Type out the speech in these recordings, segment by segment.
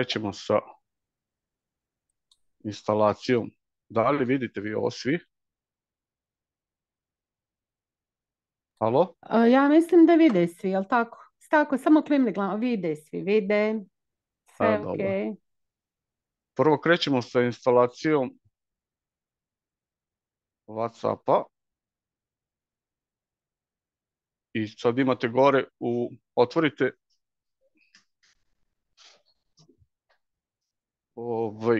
krećemo sa instalacijom. Da li vidite vi ovo svi? Halo? Ja mislim da vide svi, jel tako? Tako, samo klimni glavom, vide svi, vide, sve ok. Dobro. Prvo krećemo sa instalacijom WhatsAppa. I sad imate gore, otvorite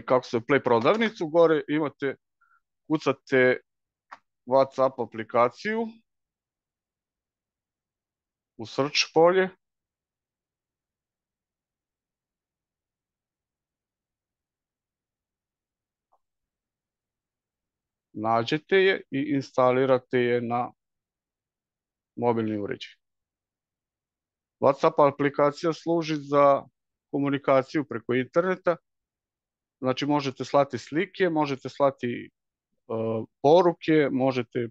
kako se Play prodavnicu, gore imate, kucate WhatsApp aplikaciju u search polje. Nađete je i instalirate je na mobilni uređaj. WhatsApp aplikacija služi za komunikaciju preko interneta. Znači možete slati slike, možete slati poruke, možete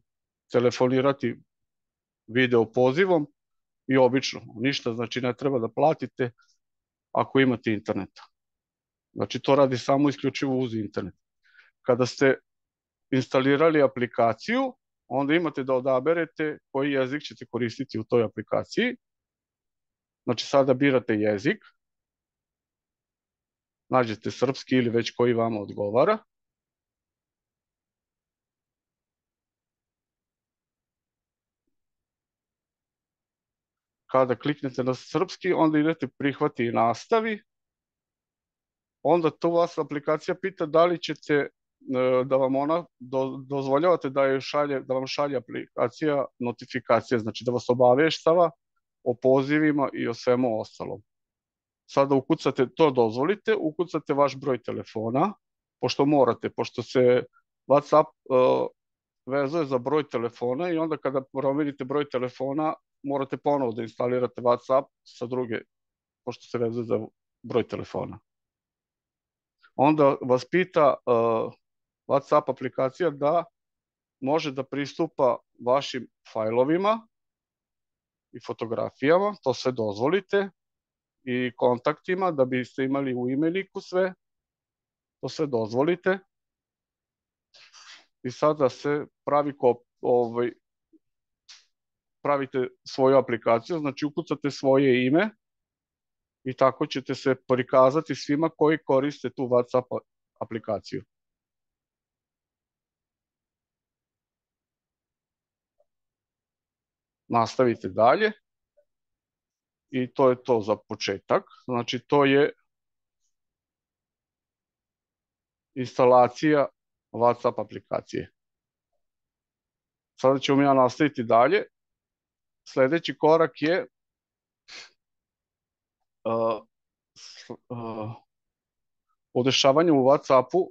telefonirati video pozivom i obično. Ništa, znači ne treba da platite ako imate interneta. Znači to radi samo isključivo uz internet. Kada ste instalirali aplikaciju, onda imate da odaberete koji jezik ćete koristiti u toj aplikaciji. Znači sada birate jezik, nađete srpski ili već koji vama odgovara. Kada kliknete na srpski, onda idete prihvati i nastavi. Onda to vas aplikacija pita da li ćete da vam ona dozvoljavate da vam šalje aplikacija notifikacije, znači da vas obaveštava o pozivima i o svemu ostalom. Sada ukucate, to dozvolite, ukucate vaš broj telefona, pošto morate, pošto se WhatsApp vezuje za broj telefona i onda kada promenite broj telefona morate ponovo da instalirate WhatsApp sa druge, pošto se vezuje za broj telefona. Onda vas pita WhatsApp aplikacija da može da pristupa vašim fajlovima i fotografijama, to sve dozvolite, i kontaktima, da biste imali u imeniku sve, to sve dozvolite. I sada se pravite svoju aplikaciju, znači ukucate svoje ime i tako ćete se prikazati svima koji koriste tu WhatsApp aplikaciju. Nastavite dalje i to je to za početak. Znači to je instalacija WhatsApp aplikacije. Sada ćemo ja nastaviti dalje. Sledeći korak je podešavanje u WhatsAppu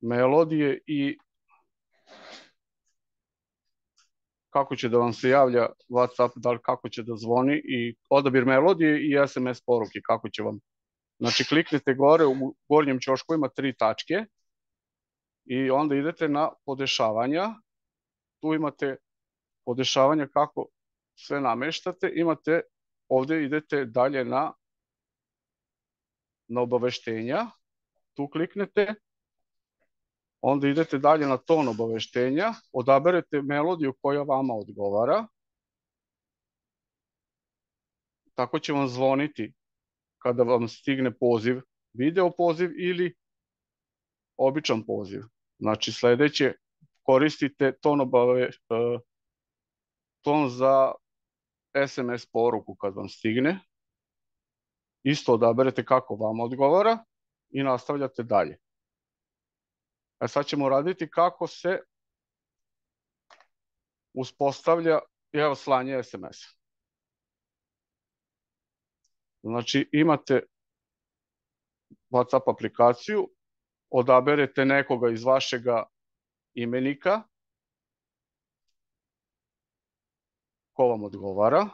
melodije i kako će da vam se javlja WhatsApp, da li kako će da zvoni, i odabir melodije i SMS poruke, kako će vam. Znači kliknete gore, u gornjem ćošku ima 3 tačke i onda idete na podešavanja. Tu imate podešavanja kako sve nameštate, imate, ovde idete dalje na obaveštenja, tu kliknete, onda idete dalje na ton obaveštenja, odaberete melodiju koja vama odgovara, tako će vam zvoniti kada vam stigne poziv, video poziv ili običan poziv. Znači sledeće, koristite ton za SMS poruku kad vam stigne, isto odaberete kako vam odgovara i nastavljate dalje. Sad ćemo raditi kako se uspostavlja slanje SMS-a. Znači imate WhatsApp aplikaciju, odaberete nekoga iz vašega imenika, ko vam odgovara,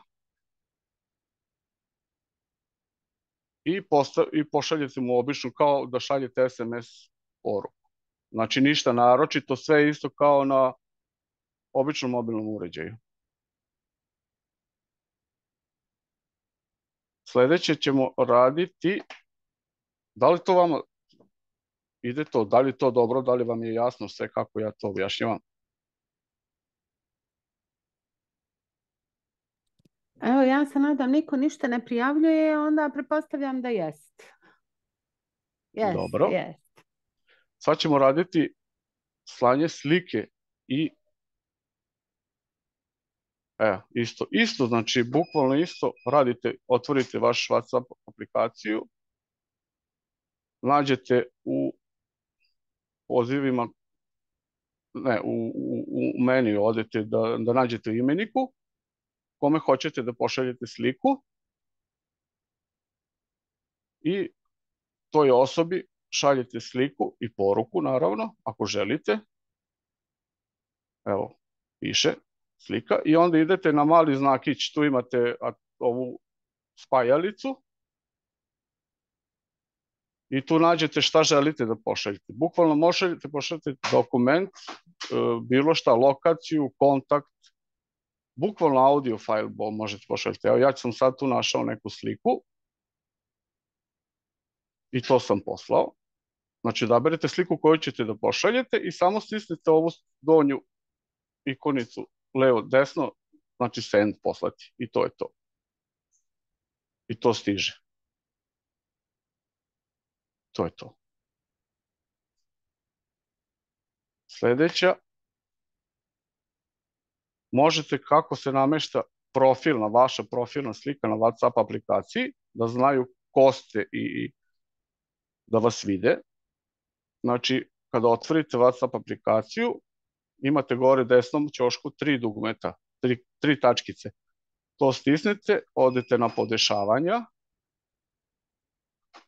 i pošaljete mu obično kao da šaljete SMS poruku. Znači ništa naročito, sve je isto kao na običnom mobilnom uređaju. Sljedeće ćemo raditi, da li to vama ide to, da li je to dobro, da li vam je jasno sve kako ja to objašnjavam? Evo, ja se nadam, niko ništa ne prijavljuje, onda pretpostavljam da jest. Jest, Dobro. jest. Sad ćemo raditi slanje slike i isto, znači bukvalno isto radite, otvorite vaš WhatsApp aplikaciju, nađete u pozivima, ne, u meniju odete da nađete imeniku kome hoćete da pošaljete sliku i toj osobi šaljete sliku i poruku, naravno, ako želite. Evo, piše slika i onda idete na mali znakić, tu imate ovu spajalicu i tu nađete šta želite da pošaljete. Bukvalno možete pošaljete dokument, bilo šta, lokaciju, kontakt, bukvalno audio file možete pošaljati. Evo, ja sam sad tu našao neku sliku i to sam poslao. Znači, odaberete sliku koju ćete da pošaljete i samo stisnete ovu donju ikonicu levo, desno, znači send poslati i to je to. I to stiže. To je to. Sljedeća. Možete kako se namešta vaša profilna slika na WhatsApp aplikaciji, da znaju ko ste i da vas vide. Znači, kada otvorite WhatsApp aplikaciju, imate gore desnom ćošku 3 dugmeta, 3 tačkice. To stisnete, odete na podešavanja,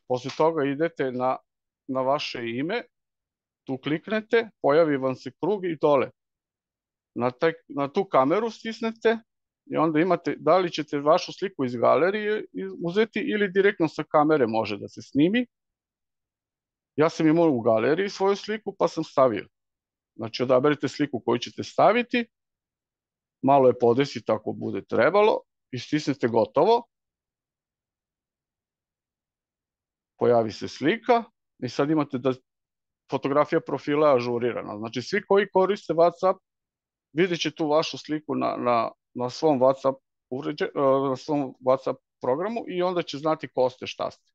posle toga idete na vaše ime, tu kliknete, pojavi vam se krug i dole. Na tu kameru stisnete i onda imate da li ćete vašu sliku iz galerije uzeti ili direktno sa kamere može da se snimi. Ja sam imao u galeriji svoju sliku pa sam stavio. Znači odaberite sliku koju ćete staviti, malo je podesite ako bude trebalo i stisnete gotovo. Pojavi se slika i sad imate da fotografija profila je ažurirana. Znači svi koji koriste WhatsApp vidjet će tu vašu sliku na svom WhatsApp programu i onda će znati ko ste, šta ste.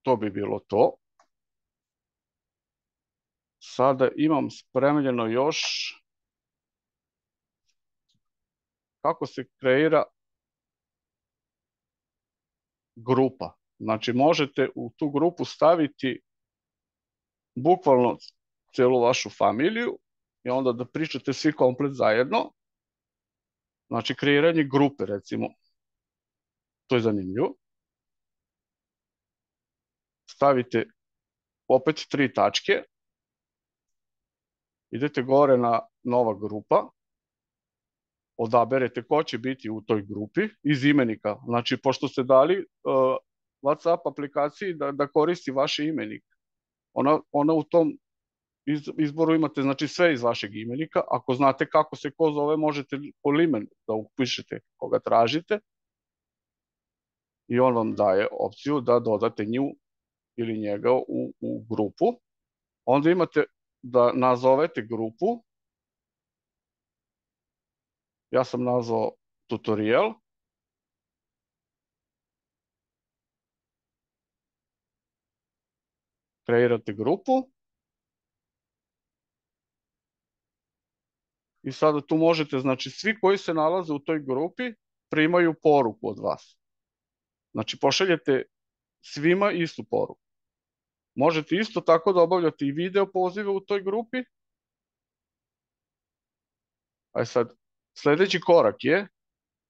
To bi bilo to. Sada imam spremljeno još kako se kreira grupa. Znači možete u tu grupu staviti bukvalno celu vašu familiju i onda da pričate svi komplet zajedno. Znači kreiranje grupe recimo. To je zanimljivo. Stavite opet 3 tačke. Idete gore na nova grupa. Odaberete ko će biti u toj grupi iz imenika. Znači pošto ste dali WhatsApp aplikaciji da koristi vaš imenik. Ona u tom izboru imate znači sve iz vašeg imenika. Ako znate kako se ko zove, možete po limen da upišete koga tražite i on vam daje opciju da dodate nju ili njega u grupu. Onda imate da nazovete grupu. Ja sam nazvao tutorial. Kreirate grupu. I sada tu možete, znači svi koji se nalaze u toj grupi primaju poruku od vas. Znači pošaljete svima istu poruku. Možete isto tako da obavljate i video pozive u toj grupi. A sad, sljedeći korak je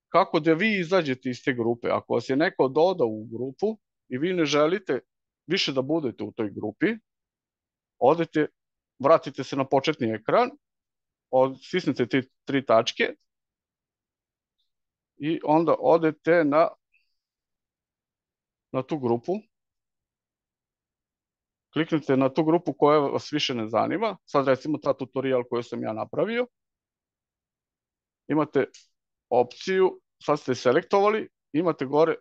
kako da vi izađete iz te grupe. Ako vas je neko dodao u grupu i vi ne želite više da budete u toj grupi, odete, vratite se na početni ekran, stisnete te 3 tačke i onda odete na tu grupu. Kliknite na tu grupu koja vas više ne zanima. Sad recimo ta tutorial koju sam ja napravio. Imate opciju, sad ste selektovali, imate gore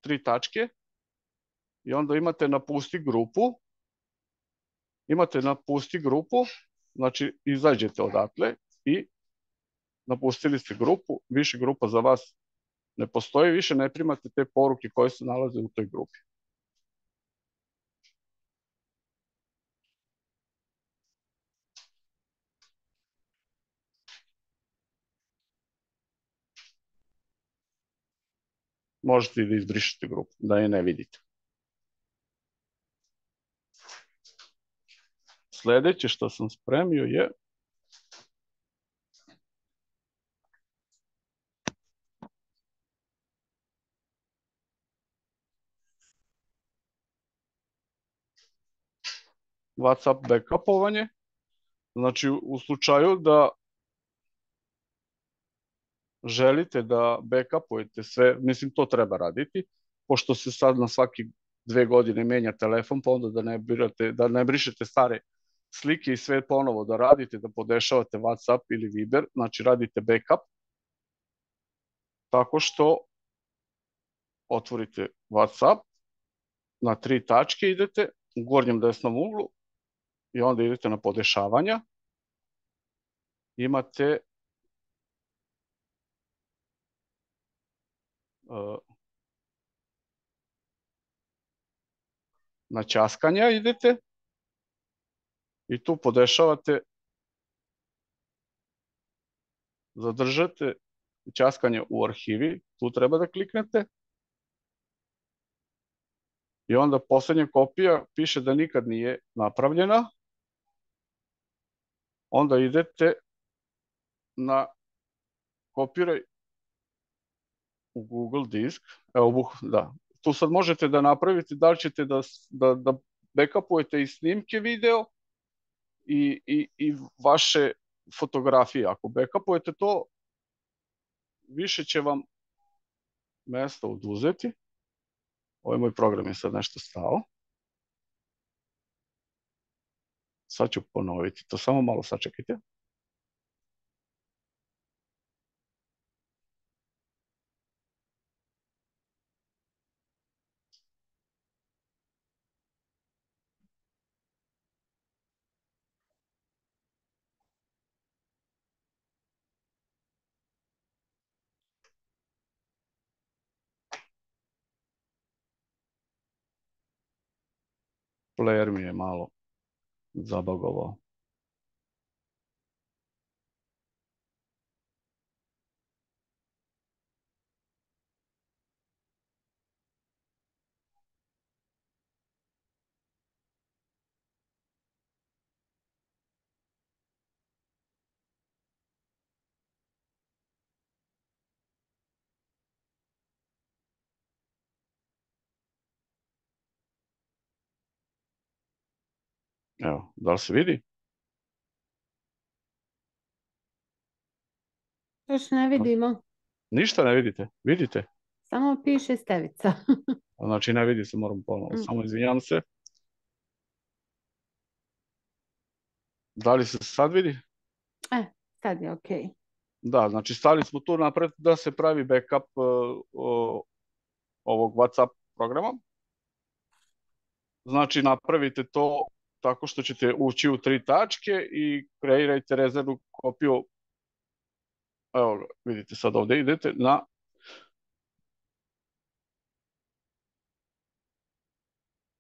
3 tačke i onda imate napusti grupu, znači izađete odatle i napustili ste grupu, više grupa za vas ne postoji, više ne primate te poruke koje se nalaze u toj grupi. Možete i da izbrišete grupu, da je ne vidite. Sledeće što sam spremio je WhatsApp backupovanje. Znači, u slučaju da želite da backupujete sve, mislim to treba raditi, pošto se sad na svaki 2 godine menja telefon, pa onda da ne brišete stare slike i sve ponovo da radite, da podešavate WhatsApp ili Viber, znači radite backup, tako što otvorite WhatsApp, na 3 tačke idete, u gornjem desnom uglu, i onda idete na podešavanja, imate na ćaskanja idete i tu podešavate, zadržate ćaskanje u arhivi, tu treba da kliknete i onda poslednja kopija piše da nikad nije napravljena, onda idete na kopiraj u Google disk, evo, da, tu sad možete da napravite da li ćete da backupujete i snimke video i vaše fotografije. Ako backupujete to, više će vam mesta oduzeti. Ovaj moj program je sad nešto stao. Sad ću ponoviti to, samo malo sačekajte. Player mi je malo zabagovao. Evo, da li se vidi? Još ne vidimo. Ništa ne vidite? Vidite? Samo piše Stevica. Znači ne vidi se, moram ponovo. Samo izvinjam se. Da li se sad vidi? Sad je okej. Da, znači stali smo tu napred da se pravi backup ovog WhatsApp programa. Znači napravite to tako što ćete ući u 3 tačke i kreirajte rezervnu kopiju. Evo, vidite sad ovde idete na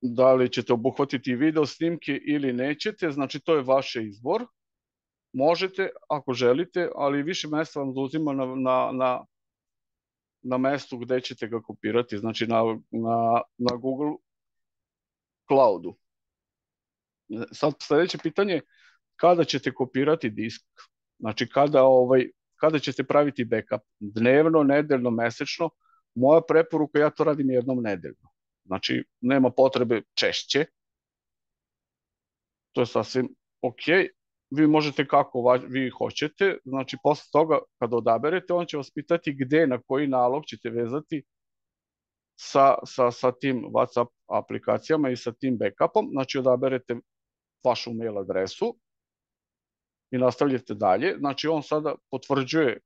da li ćete obuhvatiti video snimke ili nećete, znači to je vaš izbor. Možete ako želite, ali više mesta vam zauzima na mestu gde ćete ga kopirati, znači na Google Cloudu. Sad sledeće pitanje, kada ćete kopirati disk? Znači kada ćete praviti backup? Dnevno, nedeljno, mesečno? Moja preporuka, ja to radim jednom nedeljno. Znači nema potrebe češće. To je sasvim okej. Vi možete kako vi hoćete, znači posle toga kada odaberete, on će vas pitati gde, na koji nalog ćete vezati sa tim WhatsApp aplikacijama i sa tim backupom, znači odaberete vašu mail adresu i nastavljate dalje, znači on sada potvrđuje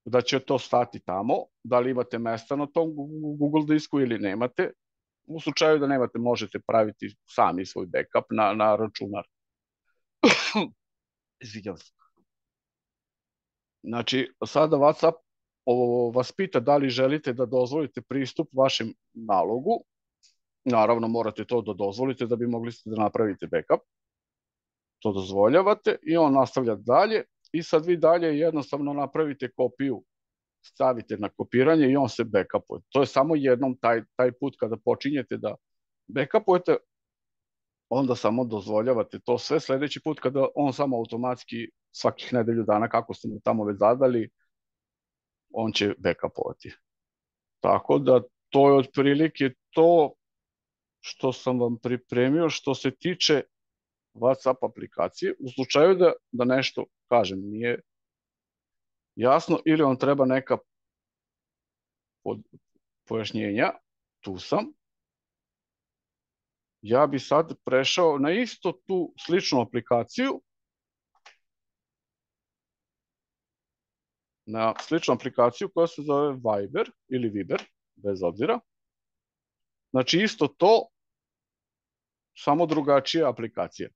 da će to stati tamo, da li imate mesta na tom Google disku ili nemate. U slučaju da nemate, možete praviti sami svoj backup na računar. Izvinjam se. Znači, sada WhatsApp vas pita da li želite da dozvolite pristup vašem nalogu. Naravno, morate to da dozvolite da bi mogli da napravite backup. To dozvoljavate i on nastavlja dalje i sad vi dalje jednostavno napravite kopiju, stavite na kopiranje i on se backupuje. To je samo jednom taj put kada počinjete da backupujete, onda samo dozvoljavate to sve. Sledeći put kada on samo automatski svakih nedelju dana, kako ste mu tamo već zadali, on će backupovati. Tako da to je otprilike to što sam vam pripremio što se tiče WhatsApp aplikacije. U slučaju da nešto, kažem, nije jasno ili vam treba neka pojašnjenja, tu sam. Ja bi sad prešao na isto tu sličnu aplikaciju, koja se zove Viber ili Viber, bez obzira. Znači isto to, samo drugačija aplikacija.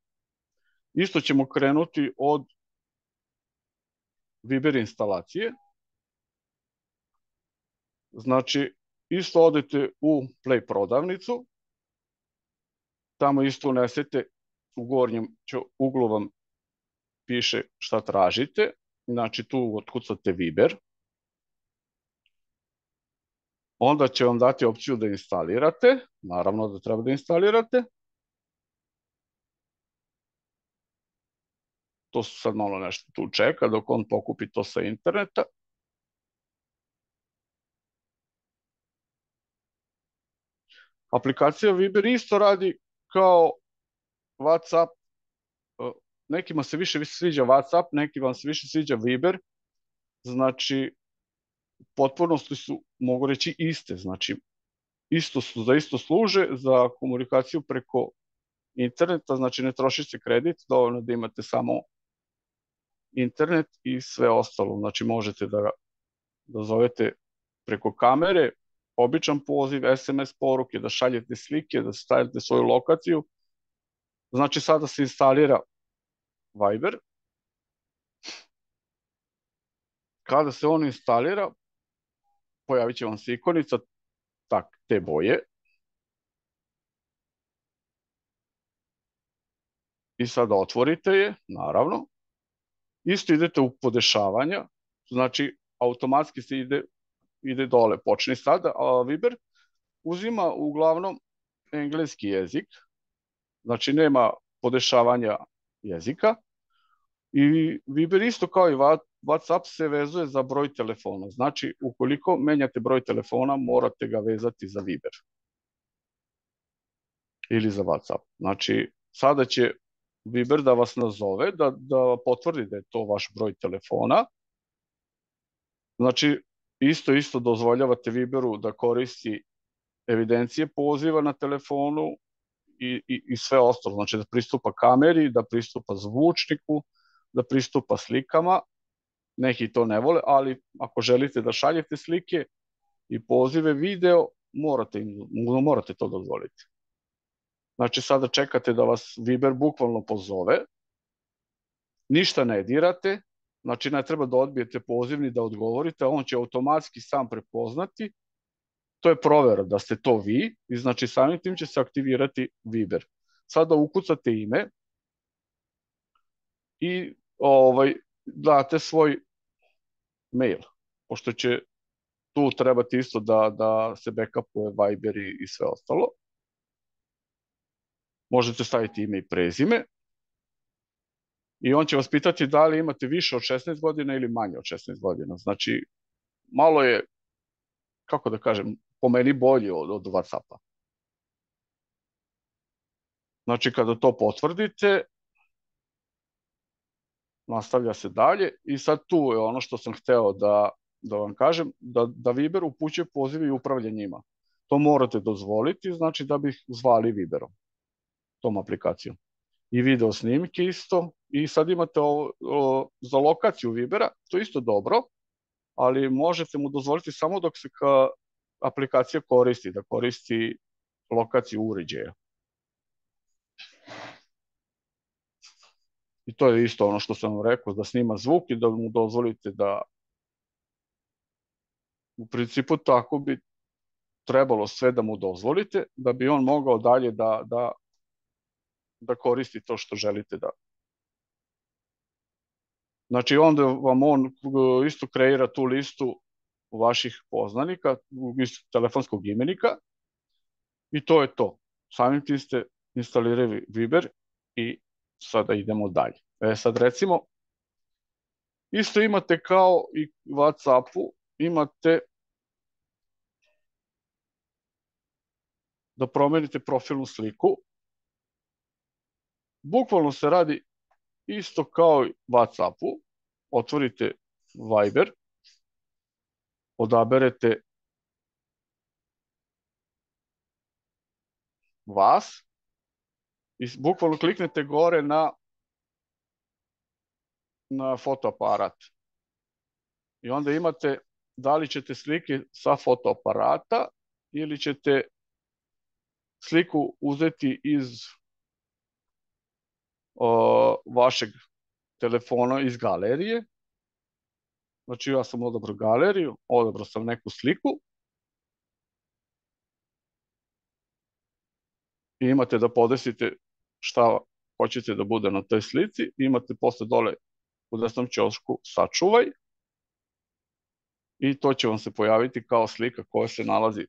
Isto ćemo krenuti od Viber instalacije. Znači, isto odete u Play prodavnicu, tamo isto unesete, u gornjem uglu vam piše šta tražite, znači tu otkucate Viber, onda će vam dati opciju da instalirate, naravno da treba da instalirate. To se sad malo nešto tu čeka dok on pokupi to sa interneta. Aplikacija Viber isto radi kao WhatsApp. Nekima se više sviđa WhatsApp, nekima se više sviđa Viber. Znači, potpunosti su, mogu reći, iste. Znači, isto služe za komunikaciju preko interneta, znači ne troši se kredit, dovoljno da imate samo internet i sve ostalo. Znači, možete da zovete preko kamere, običan poziv, SMS poruke, da šaljete slike, da stavite svoju lokaciju. Znači, sada se instalira Viber. Kada se on instalira, pojavit će vam se ikonica te boje. I sada otvorite je, naravno. Isto idete u podešavanja, znači automatski se ide dole, počne sada, a Viber uzima uglavnom engleski jezik, znači nema podešavanja jezika i Viber isto kao i WhatsApp se vezuje za broj telefona, znači ukoliko menjate broj telefona morate ga vezati za Viber ili za WhatsApp. Znači sada će Viber da vas nazove, da potvrdi da je to vaš broj telefona. Znači, isto dozvoljavate Viberu da koristi evidencije poziva na telefonu i sve ostalo. Znači, da pristupa kameri, da pristupa zvučniku, da pristupa slikama. Neki to ne vole, ali ako želite da šaljete slike i pozive video, morate to dozvoliti. Znači, sada čekate da vas Viber bukvalno pozove, ništa ne dirate, znači ne treba da odbijete poziv ni da odgovorite, on će automatski sam prepoznati, to je provera da ste to vi i znači samim tim će se aktivirati Viber. Sada ukucate ime i date svoj mail, pošto će tu trebati isto da se backupuje Viber i sve ostalo. Možete staviti ime i prezime i on će vas pitati da li imate više od 16 godina ili manje od 16 godina. Znači, malo je, kako da kažem, po meni bolji od WhatsAppa. Znači, kada to potvrdite, nastavlja se dalje i sad tu je ono što sam hteo da vam kažem, da Viber upućuje pozive i upravlja njima. To morate dozvoliti, znači da bih zvali Viberom, tom aplikacijom. I video snimke isto. I sad imate za lokaciju Vibera, to je isto dobro. ali možete mu dozvoliti samo dok se aplikacija koristi, da koristi lokaciju uređaja. I to je isto ono što sam vam rekao, da snima zvuk i da mu dozvolite da u principu tako bi trebalo sve da mu dozvolite, da bi on mogao dalje da koristi to što želite da. Znači onda vam on isto kreira tu listu vaših poznanika, telefonskog imenika i to je to. Samim tim ste instalirali Viber i sada idemo dalje. Sad recimo, isto imate kao i WhatsAppu, imate da promenite profilnu sliku. Bukvalno se radi isto kao i WhatsAppu. Otvorite Viber, odaberete vas i bukvalno kliknete gore na fotoaparat. I onda imate da li ćete slike sa fotoaparata ili ćete sliku uzeti iz vašeg telefona, iz galerije. Znači ja sam odabrao galeriju, odabrao sam neku sliku i imate da podesite šta hoćete da bude na toj slici. Imate posle dole u desnom ćošku sačuvaj i to će vam se pojaviti kao slika koja se nalazi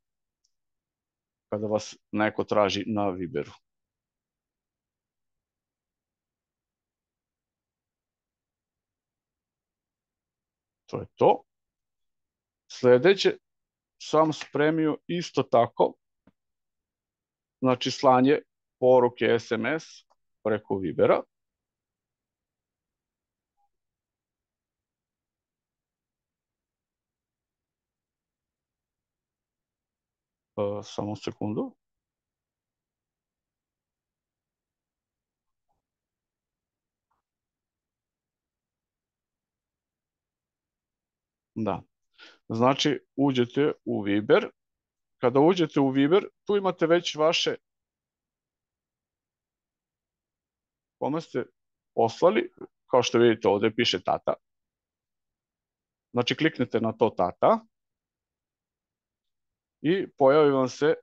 kada vas neko traži na Viberu. To je to. Sledeće sam spremio isto tako, znači slanje poruke SMS preko Vibera. Samo sekundu. Da. Znači, uđete u Viber. Kada uđete u Viber, tu imate već vaše kome ste poslali. Kao što vidite, ovde piše tata. Znači, kliknete na to tata i pojavi vam se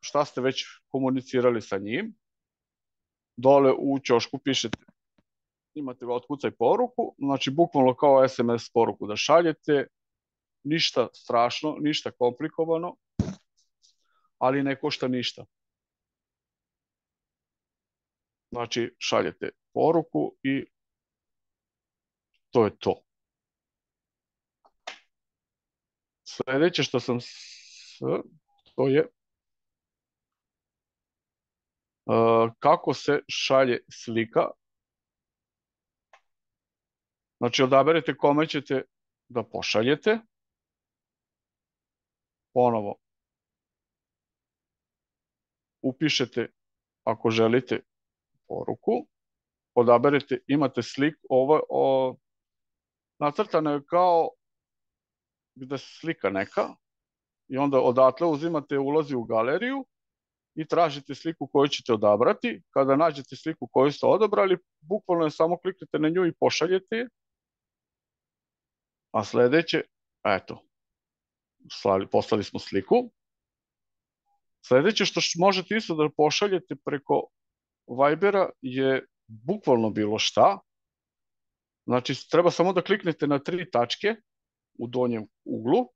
šta ste već komunicirali sa njim. Dole u ćošku pišete, imate otkucaj poruku, znači bukvalno kao SMS poruku da šaljete, ništa strašno, ništa komplikovano, ali ne košta ništa. Znači šaljete poruku i to je to. Sledeće što sam to je kako se šalje slika. Znači odaberete kome ćete da pošaljete. Ponovo upišete ako želite poruku. Odaberete, imate sliku, ovo nacrtano je kao gde se slika neka i onda odatle uzimate ulazi u galeriju i tražite sliku koju ćete odabrati. Kada nađete sliku koju ste odabrali, bukvalno je samo kliknete na nju i pošaljete je. A sledeće, eto, poslali smo sliku. Sledeće što možete isto da pošaljete preko Vibera je bukvalno bilo šta. Znači, treba samo da kliknete na 3 tačke u donjem uglu.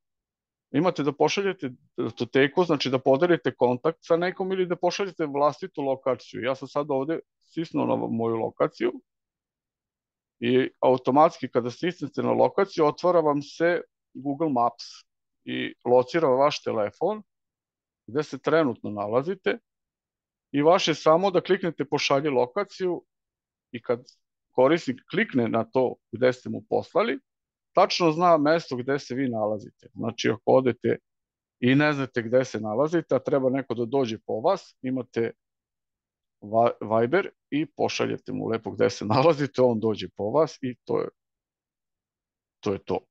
Imate da pošaljete datoteku, znači da podelite kontakt sa nekom ili da pošaljete vlastitu lokaciju. Ja sam sad ovde stisnuo na moju lokaciju i automatski kada stisnete na lokaciju otvara vam se Google Maps i locira vaš telefon gde se trenutno nalazite i vaše samo da kliknete pošalji lokaciju i kad korisnik klikne na to gde ste mu poslali, tačno zna mesto gde se vi nalazite. Znači, ako odete i ne znate gde se nalazite, a treba neko da dođe po vas, imate Viber i pošaljete mu lepo gde se nalazite, on dođe po vas i to je to.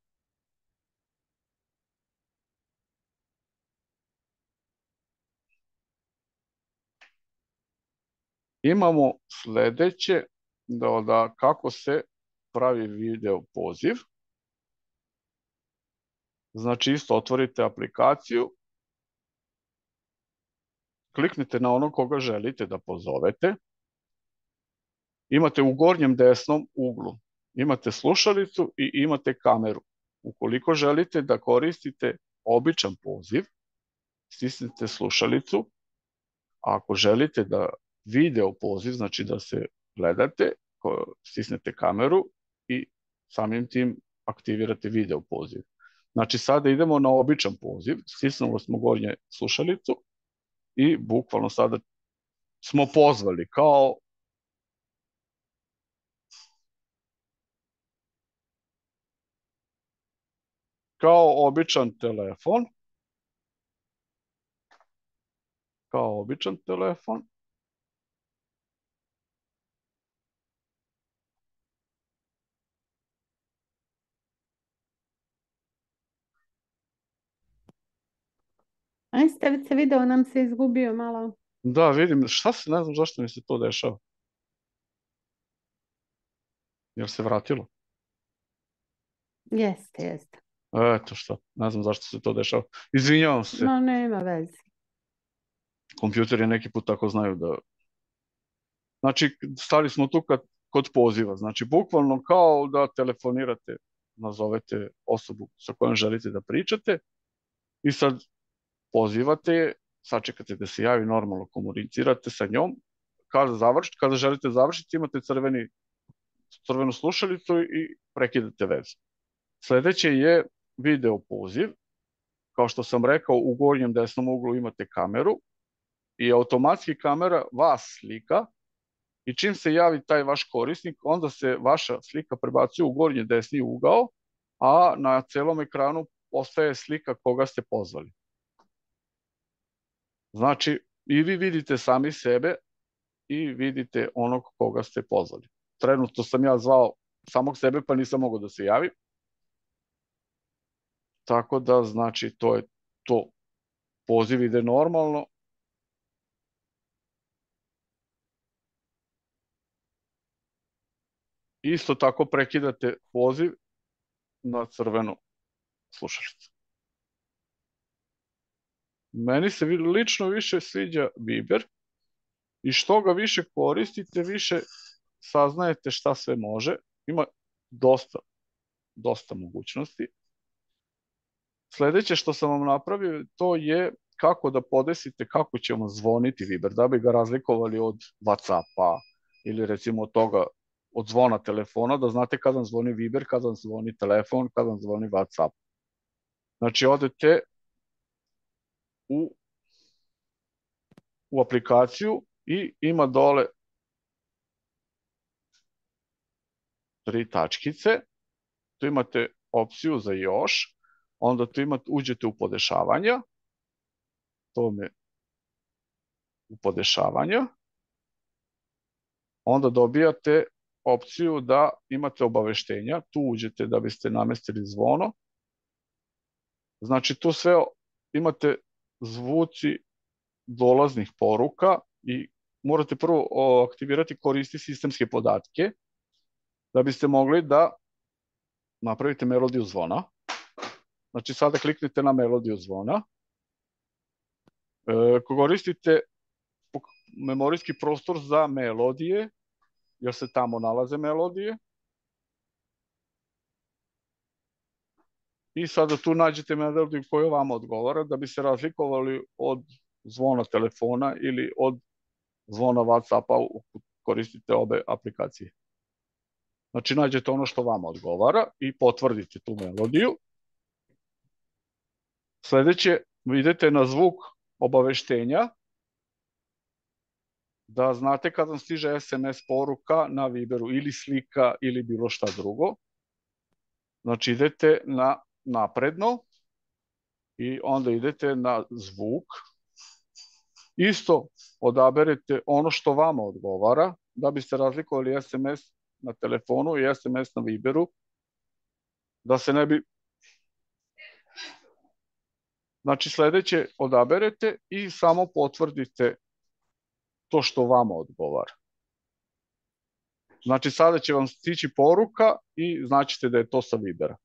imamo sledeće, da kako se pravi video poziv. Znači isto otvorite aplikaciju, kliknite na onog koga želite da pozovete. Imate u gornjem desnom uglu, imate slušalicu i imate kameru. Ukoliko želite da koristite običan poziv, stisnite slušalicu. A ako želite da video poziv, znači da se gledate, stisnete kameru i samim tim aktivirate video poziv. Znači sada idemo na običan poziv, stisnuli smo gornje slušalicu i bukvalno sada smo pozvali kao običan telefon. Kao običan telefon. Aj, Stevice, video nam se izgubio malo. Da, vidim, šta se, ne znam zašto mi se to dešava. Jel se vratilo? Jeste, jeste. Eto šta, ne znam zašto se to dešava. Izvinjavam se, No, nema veze. kompjuteri neki put tako znaju da... Znači, stali smo tu kod poziva. Znači, bukvalno kao da telefonirate, nazovete osobu sa kojom želite da pričate i sad pozivate je, sačekate da se javi, normalno komunicirate sa njom. Kada želite završiti, imate crvenu slušalicu i prekidate vezu. Sledeće je video poziv. Kao što sam rekao, u gornjem desnom uglu imate kameru i automatski kamera vas slika i čim se javi taj vaš korisnik, onda se vaša slika prebacuje u gornji desni ugao, a na celom ekranu ostaje slika koga ste pozvali. Znači, i vi vidite sami sebe i vidite onog koga ste pozvali. Trenutno sam ja zvao samog sebe, pa nisam mogao da se javim. Tako da, znači, to je to. Poziv ide normalno. Isto tako prekidate poziv na crvenu slušalicu. Meni se lično više sviđa Viber i što ga više koristite, više saznajete šta sve može. Ima dosta mogućnosti. Sledeće što sam vam napravio, to je kako da podesite kako će vam zvoniti Viber, da bi ga razlikovali od WhatsAppa ili recimo od zvona telefona, da znate kada vam zvoni Viber, kada vam zvoni telefon, kada vam zvoni WhatsApp. Znači, odete u aplikaciju i ima dole 3 tačkice, tu imate opciju za još, onda tu uđete u podešavanja, to je u podešavanja, onda dobijate opciju da imate obaveštenja, tu uđete da biste namestili zvono, znači tu sve imate zvuci dolaznih poruka i morate prvo aktivirati koristi sistemske podatke da biste mogli da napravite melodiju zvona. Znači sada kliknite na melodiju zvona. Koristite memorijski prostor za melodije, jer se tamo nalaze melodije. I sada tu nađete melodiju koja vam odgovara da bi se razlikovali od zvona telefona ili od zvona WhatsAppa koristite obe aplikacije. Znači nađete ono što vam odgovara i potvrdite tu melodiju. Sledeće, idete na zvuk obaveštenja, da znate kad vam stiže SMS poruka na Viberu ili slika ili bilo šta drugo. Znači idete na napredno i onda idete na zvuk. Isto odaberete ono što vama odgovara, da biste razlikovali SMS na telefonu i SMS na Viberu, da se ne bi... Znači sledeće odaberete i samo potvrdite to što vama odgovara. Znači sada će vam stići poruka i značite da je to sa Vibera.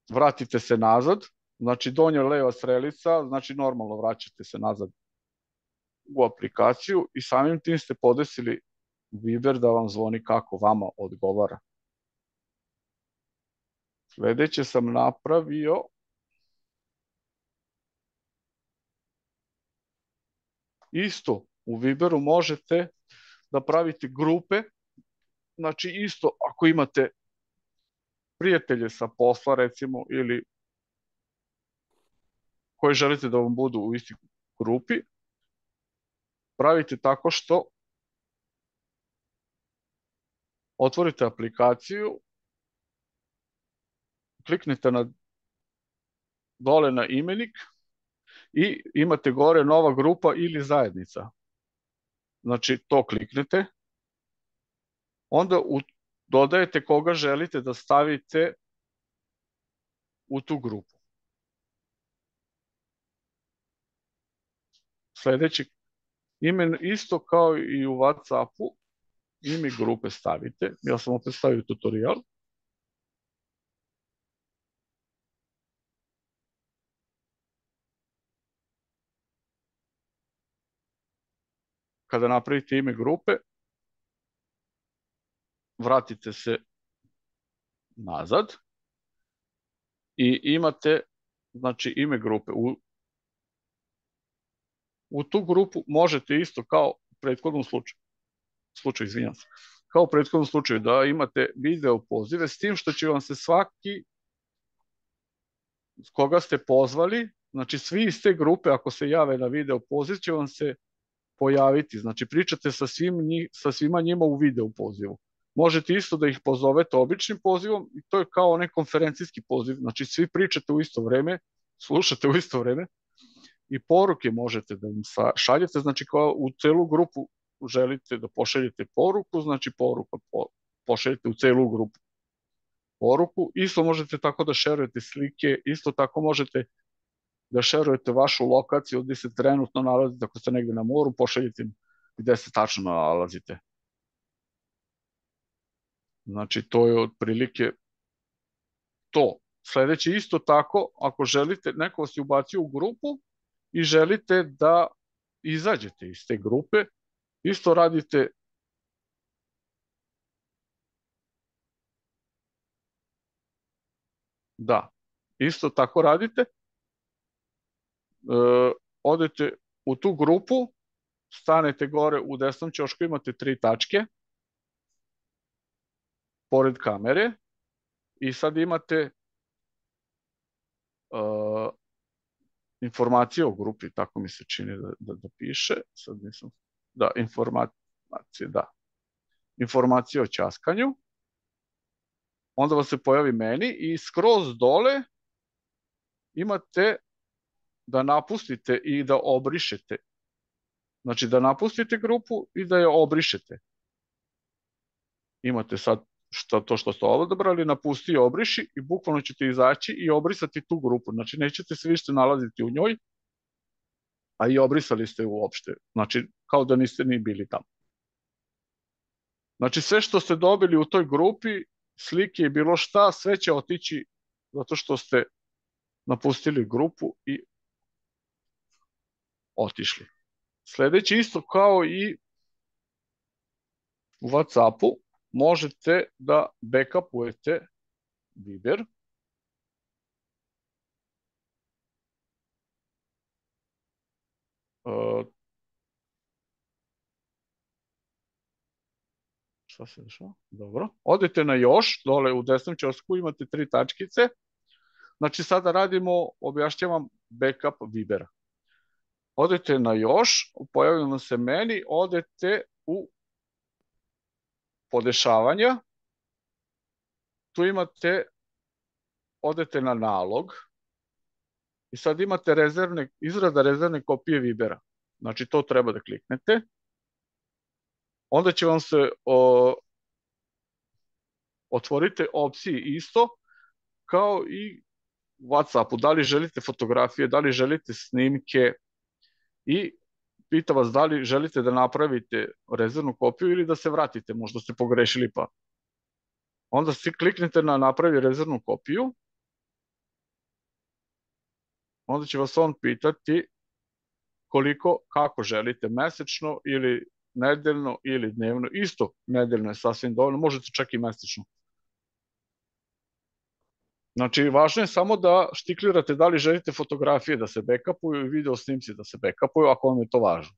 Vratite se nazad, znači donja leva strelica, znači normalno vraćate se nazad u aplikaciju i samim tim ste podesili Viber da vam zvoni kako vama odgovara. Sledeće sam napravio isto u Viberu možete da pravite grupe, znači isto ako imate prijatelje sa posla recimo ili koji želite da vam budu u istoj grupi, pravite tako što otvorite aplikaciju, kliknete dole na imenik i imate gore nova grupa ili zajednica. Znači to kliknete, onda dodajete koga želite da stavite u tu grupu. Sledeći ime isto kao i u WhatsAppu, ime grupe stavite. Ja sam opet stavio tutorial. Kada napravite ime grupe, vratite se nazad i imate znači ime grupe. U tu grupu možete isto kao u prethodnom slučaju, izvinjam se, kao u prethodnom slučaju da imate video pozive s tim što će vam se svaki s koga ste pozvali, znači svi iz te grupe ako se jave na video poziv će vam se pojaviti, znači pričate sa svima njima u video pozivu. Možete isto da ih pozovete običnim pozivom i to je kao onaj konferencijski poziv, znači svi pričate u isto vreme, slušate u isto vreme i poruke možete da im šaljete, znači kao u celu grupu želite da pošaljete poruku, znači poruka pošaljete u celu grupu poruku, isto možete tako da šerujete slike, isto tako možete da šerujete vašu lokaciju gde se trenutno nalazite, ako ste negde na moru, pošaljite im gde se tačno nalazite. Znači, to je otprilike to. Sledeće isto tako, ako želite, neko vas je ubacio u grupu i želite da izađete iz te grupe, isto radite da, isto tako radite, odete u tu grupu, stanete gore u desnom ćošku, imate 3 tačke, pored kamere, i sad imate informacije o grupi, tako mi se čini da piše, sad nisam, da, informacije o ćaskanju, onda vam se pojavi meni i skroz dole imate da napustite i da obrišete. Znači da napustite grupu i da je obrišete. Imate sad to što ste odabrali, napusti i obriši i bukvalno ćete izaći i obrisati tu grupu. Znači nećete se više nalaziti u njoj, a i obrisali ste uopšte. Znači kao da niste ni bili tamo. Znači sve što ste dobili u toj grupi, slike i bilo šta, sve će otići zato što ste napustili grupu i otišli. Sledeće isto kao i u WhatsAppu, možete da backupujete Viber. Šta se dešava? Dobro. Odete na još, dole u desnom ćosku imate 3 tačkice. Znači sada radimo, objašnjavam backup Vibera. Odete na još, pojavimo se meni, odete u podešavanja, tu imate, odete na nalog i sad imate izrada rezervne kopije Vibera. Znači to treba da kliknete. Onda će vam se otvorite opcije isto kao i u WhatsAppu. Da li želite fotografije, da li želite snimke i pita vas da li želite da napravite rezervnu kopiju ili da se vratite, možda ste pogrešili pa. Onda kliknete na napravi rezervnu kopiju, onda će vas on pitati kako želite, mesečno ili nedeljno ili dnevno. Isto nedeljno je sasvim dovoljno, možete čak i mesečno. Znači, važno je samo da štiklirate da li želite fotografije da se backupuju i video snimci da se backupuju, ako vam je to važno.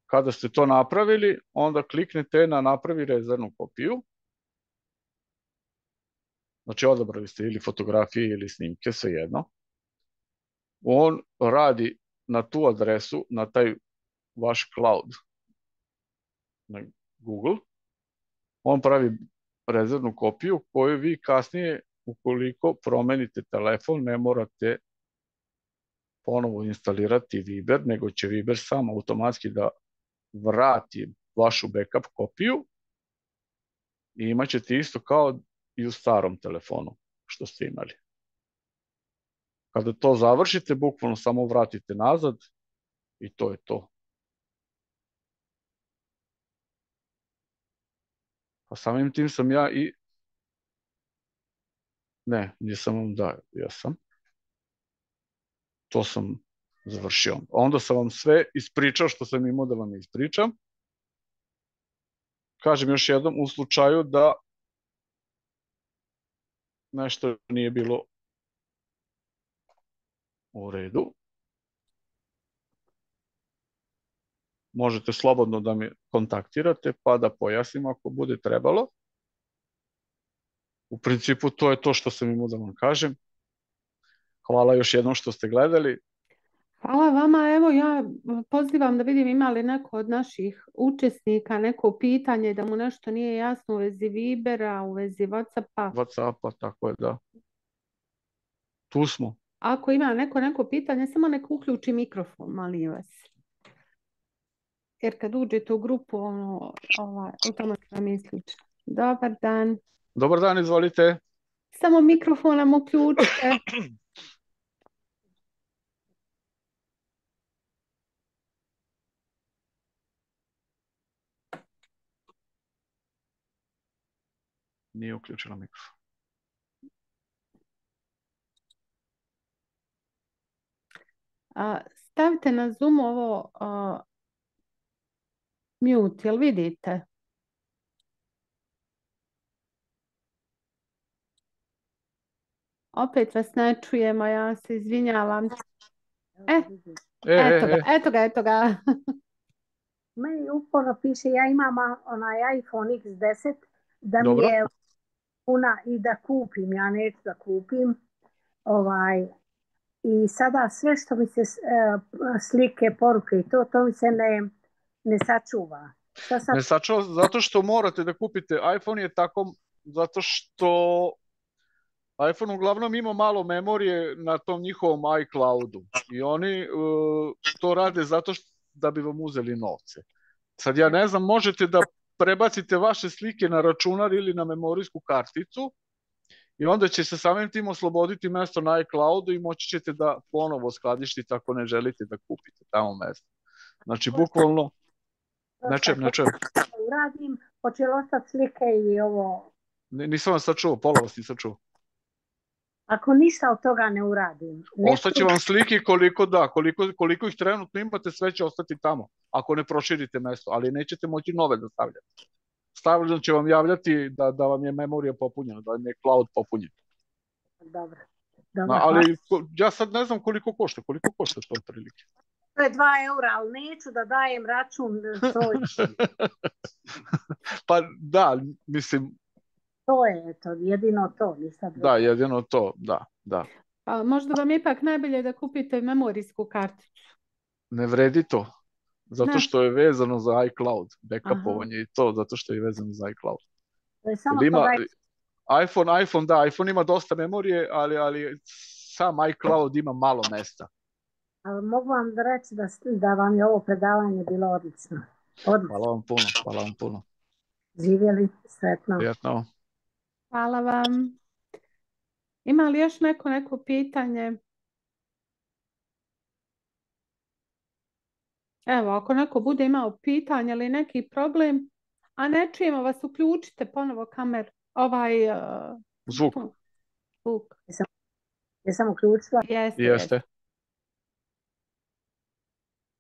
Kada ste to napravili, onda kliknete na napravi rezervnu kopiju. Znači, odabrali ste ili fotografije ili snimke, svejedno. On radi na tu adresu, na taj vaš cloud, na Google. On pravi rezervnu kopiju koju vi kasnije, ukoliko promenite telefon, ne morate ponovo instalirati Viber, nego će Viber sam automatski da vrati vašu backup kopiju i imat ćete isto kao i u starom telefonu što ste imali. Kada to završite, bukvalno samo vratite nazad i to je to. A samim tim sam ja i... Ne, nisam vam dao, ja sam. To sam završio. Onda sam vam sve ispričao što sam imao da vam ispričam. Kažem još jednom, u slučaju da nešto nije bilo u redu, možete slobodno da me kontaktirate pa da pojasnim ako bude trebalo. U principu to je to što sam imao da vam kažem. Hvala još jednom što ste gledali. Hvala vama. Evo ja pozivam da vidim ima li neko od naših učesnika neko pitanje da mu nešto nije jasno u vezi Vibera, u vezi Whatsappa. Whatsappa, tako je, da. Tu smo. Ako ima neko pitanje, samo nek uključi mikrofon, molim vas. Jer kad uđete u grupu, automatski vam je isključeno. Dobar dan. Dobar dan, izvolite. Samo mikrofon nam uključite. Nije uključila mikrofon. Stavite na Zoom ovo mute, jel vidite? Opet vas ne čujemo, ja se izvinjavam. Eto ga. Meni uporno piše, ja imam onaj iPhone X10, da mi je puna i da kupim, ja neću da kupim. I sada sve što mi se slike, poruke i to mi se ne sačuva. Ne sačuva zato što morate da kupite. iPhone je tako zato što iPhone uglavnom ima malo memorije na tom njihovom iCloudu i oni to rade zato da bi vam uzeli novce. Sad ja ne znam, možete da prebacite vaše slike na računar ili na memorijsku karticu i onda će se samim tim osloboditi mesto na iCloudu i moći ćete da ponovo skladištite ako ne želite da kupite tamo mesto. Znači, bukvalno... Ne čujem. Uradim, hoće li ostati slike i ovo... Nisam vas sad čuo, pola vas nisam čuo. Ako ništa od toga ne uradim... Ostaće vam slike koliko ih trenutno imate, sve će ostati tamo, ako ne proširite mesto, ali nećete moći nove da stavljate. Stavljeno će vam javljati da vam je memorija popunjena, da vam je cloud popunjen. Dobro. Ali ja sad ne znam koliko košta to otprilike. To je 2 eura, ali neću da dajem račun. Pa da, mislim... To je to, jedino to. Da, jedino to, da. A možda vam je ipak najbolje da kupite memorijsku karticu. Ne vredi to, zato što je vezano za iCloud, backupovanje i to, zato što je vezano za iCloud. To je samo iPhone ima dosta memorije, ali sam iCloud ima malo mesta. Ali mogu vam reći da vam je ovo predavanje bilo odlično. Hvala vam puno. Živjeli, sretno. Prijatno. Hvala vam. Ima li još neko pitanje? Evo, ako neko bude imao pitanje ili neki problem, a ne čujemo vas, uključite ponovo kamer, Zvuk. zvuk. Jesam uključila? Jeste.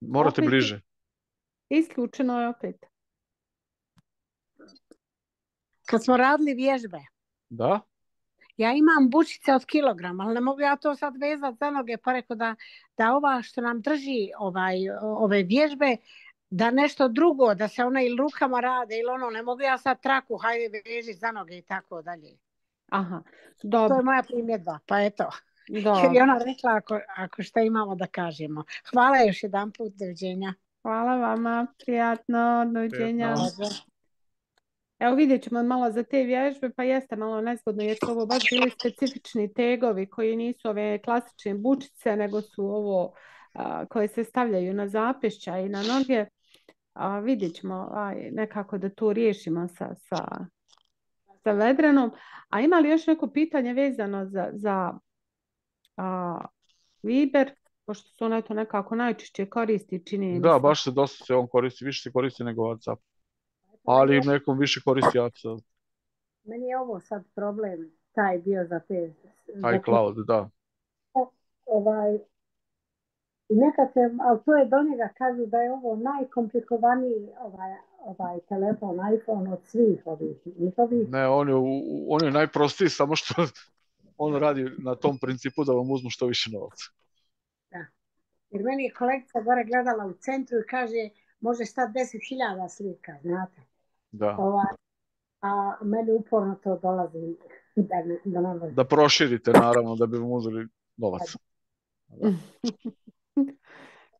Morate Opet bliže. Isključeno je opet. Kad smo radili vježbe, Da? ja imam bučice od kilogram, ali ne mogu ja to sad vezati za noge, pa rekao da ova što nam drži ove vježbe, da nešto drugo, da se ona ili rukama rade ili ono, ne mogu ja sad traku, hajde veži za noge i tako dalje. Aha, dobro. To je moja primjedba, pa eto. Dobro. Jer je ona rekla ako šta imamo da kažemo. Hvala još jedan put, doviđenja. Hvala vama, prijatno, doviđenja. Evo vidjet ćemo malo za te vježbe, pa jeste malo nezgodno jer su ovo baš bili specifični tegovi koji nisu ove klasične bučice, nego su ovo koje se stavljaju na zapešća i na noge. Vidjet ćemo nekako da to riješimo sa Vedranom. A ima li još neko pitanje vezano za Viber, pošto se on eto nekako najčešće koristi, čini mi se. Da, baš se dosta se on koristi, više se koristi nego WhatsApp. Ali nekom više koristi WhatsApp. Meni je ovo sad problem, taj dio za te... iCloud, da. I nekad se, ali to je do njega, kažu da je ovo najkomplikovaniji telefon, iPhone od svih ovih njihovih. Ne, on je najprostiji, samo što on radi na tom principu da vam uzmu što više novaca. Da. Jer meni je kolegica gore gledala u centru i kaže, može stati 10.000 slika, znate. Da. A meni uporno to dolazi da proširite, naravno, da bi vam uzeli novac.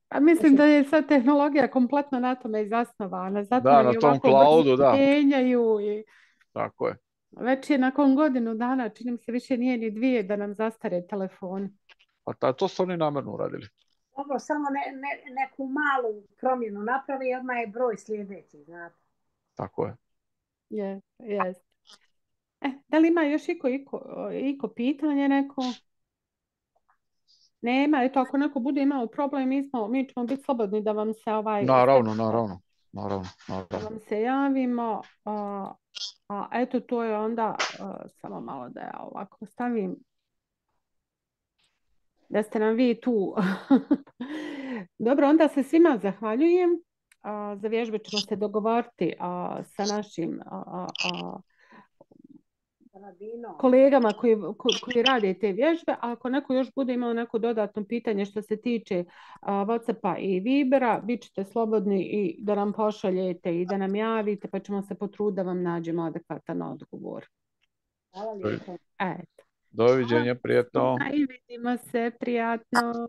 A mislim da je sad tehnologija kompletno na tome i zasnovana. Zato da, na tom cloudu, da. Menjaju i... Tako je. Već je nakon godinu dana, čini mi se više nije ni 2 da nam zastare telefoni. A to su oni namjerno uradili. Dobro, samo neku malu promjenu napravi i odmah je broj sljedeći, znate. Tako je. Jest. Da li ima još iko pitanje neko? Nema, eto ako neko bude imao problem, mi ćemo biti slobodni da vam se Naravno. Da vam se javimo. Eto to je onda, samo malo da ja ovako stavim, da ste nam vi tu. Dobro, onda se svima zahvaljujem. Za vježbe ćemo se dogovoriti sa našim kolegama koji rade te vježbe. A ako neko još bude imao neko dodatno pitanje što se tiče WhatsAppa i Vibera, bit ćete slobodni i da nam pošaljete i da nam javite, pa ćemo se potruditi da vam nađemo adekvatan odgovor. Hvala lijepo. Doviđenja, prijatno. I vidimo se, prijatno.